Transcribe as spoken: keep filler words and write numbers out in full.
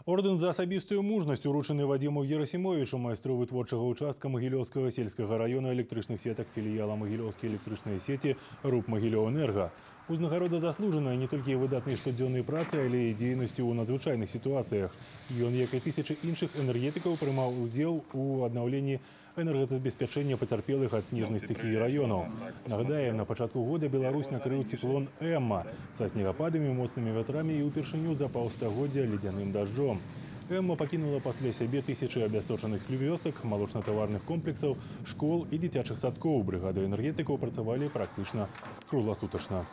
Ордэн за асабістую мужнасць уручаны Вадзіму Герасімовічу, майстру вытворчага участка Магілёўскага сельскага района электрычных сетак філіяла Магілёўскія электрычныя сеці РУП Магілёўэнерга. Узнагарода заслужаная не толькі выдатнай штодзённай працы, але і дзейнасцю ў надзвычайных сітуацыях. Ён, як і тысячы іншых энергетыкаў, прымаў удзел у аднаўленні энергазабеспячэння пацярпелых ад снежнай стыхіі раёнаў. Нагадаем, на пачатку года Беларусь накрыў цыклон Эмма са снегападамі, моцнымі вятрамі і ўпершыню за паўстагоддзя ледзяным дажджом. Эмма пакінула пасля сябе тысячы абясточаных вёсак, малочна-таварных комплексаў, школ і дзіцячых садкоў. Брыгады энергетыкаў працавалі практычна кругласутачна.